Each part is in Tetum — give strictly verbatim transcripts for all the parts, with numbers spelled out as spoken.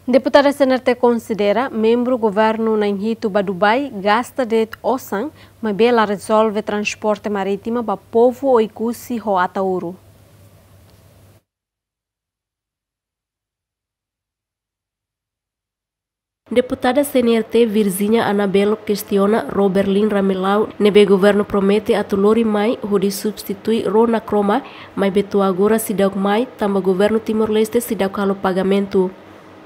Deputada C N R T konsidera membru governu na'in-hitu ba Dubai gasta de'it osan, maibé la rezolve transporte marítima ba povu Oekusi ho Ataúru. Deputada C N R T Virginia Anabelo kestiona ró Berlin Ramelau ne'ebé governu promete atu lori mai hodi substitui ró Nakroma, maibé to'o agora seidauk mai, tanba governu Timor-Leste seidauk halo pagamentu.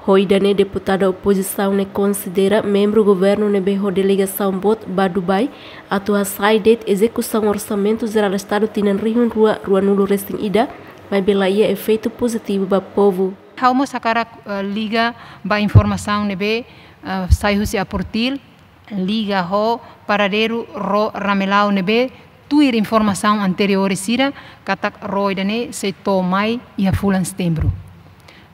Ho ida-ne'e deputada opozisaun ne'e konsidera membru governu ne'ebé ho delegasaun boot ba Dubai atu hasai de'it ezekusaun Orsamentu Jerál Estadu tinan rihun rua ruanulu resin ida, maibé la iha efeitu pozitivu ba povu. Ha'u mós hakarak, eh, liga ba informasaun ne'ebé, eh, sai husi APORTIL, liga ho paradeiru ró Ramelau ne'ebé tuir informasaun anteriór sira katak ró ida-ne'e sei to'o mai iha fulan Setembru.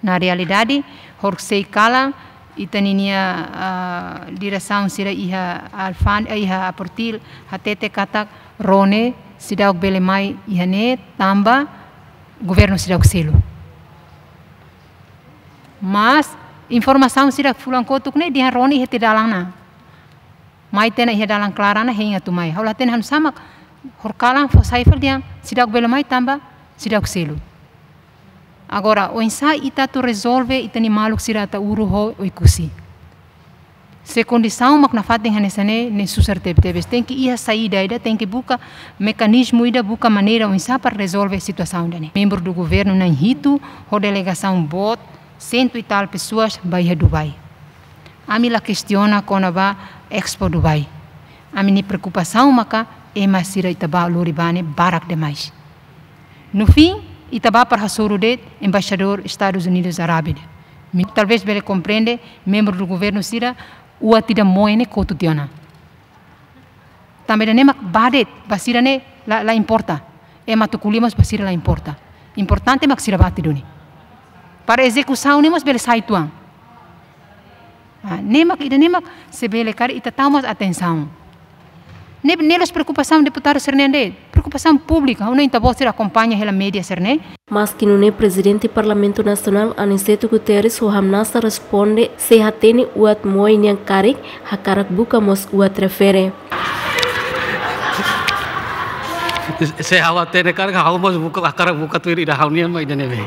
Na realidade, horisehik kalan ita-ninia, ah, diresaun sira iha alfan-, eh, iha APORTIL hatete katak ró ne'e seidauk bele mai iha ne'e tanba governu seidauk selu. Mas informasaun sira fulan kotuk ne'e dehan ró ne'e iha tiha dalan ona. Mai tiha ona iha dalan klaran ona, hein atu mai. Ha'u la hatene hanesan mak horikalan fó sai fali dehan seidauk bele mai tanba seidauk selu. Agora, oinsá ita atu rezolve ita-nia maluk sira Ataúru ho Oekusi? Se kondisaun mak nafatin hanesan ne'e, ne'e susar tebetebes. Tenke iha saida ida, tenke buka mekanizmu ida, buka maneira oinsá para rezolve situasaun ida-ne'e. Membru do governu na'in-hitu ho delegasaun boot, sentu e tal pessoas ba iha Dubai. Ami la kestiona kona-ba Expo Dubai. Ami-nia preokupasaun maka ema sira ita ba lori ba ne'e barak demais. No fim, ita ba para hasoru de'it embaixadór Estadus Unidus Arábia. Mi talvés bele komprende membru do governu sira, uat ida moe ne'e kotu tiha ona. Tanba ida-ne'e mak ba de'it, ba sira ne'e la, la importa. Ema atu ko'alia mós ba sira la importa. Importante mak sira bá tiha duni. Para ezekusaun ne'e mós bele sai tuan. Ah, ne'e mak, ida-ne'e mak, se bele karik ita tau mós atensaun. Ne'e, ne'e la'ós preokupasaun deputadu sira-nian de'it, preokupasaun públika, ha'u hanoin ita-boot sira akompaña hela média sira-ne'e. Maski nune'e Prezidente Parlamentu Nasionál Aniceto Guterres ho hamnasa responde, se hatene uat moe nian karik, hakarak buka mós uat refere. Se ha'u hatene karik, ha'u mós buka, hakarak buka tuir ida ha'u-nian mak ida-ne'ebé.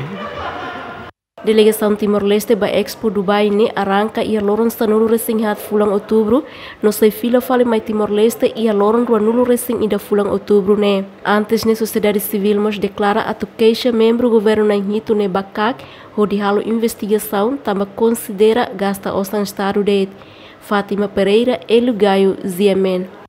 Delegasaun Timor-Leste ba Expo Dubai ne'e arranka iha loron sanulu resin haat fulan Outubru, no sei fila fali mai Timor-Leste iha loron ruanulu resin ida fulan Outubru ne'e. Antes ne'e sosiedade sivíl mós deklara atu keixa membru governu na'in-hitu ne'e ba KAK, hodi halo investigasaun tanba konsidera gasta osan Estadu de'it. Fátima Pereira, Hélio Gaio, G M N.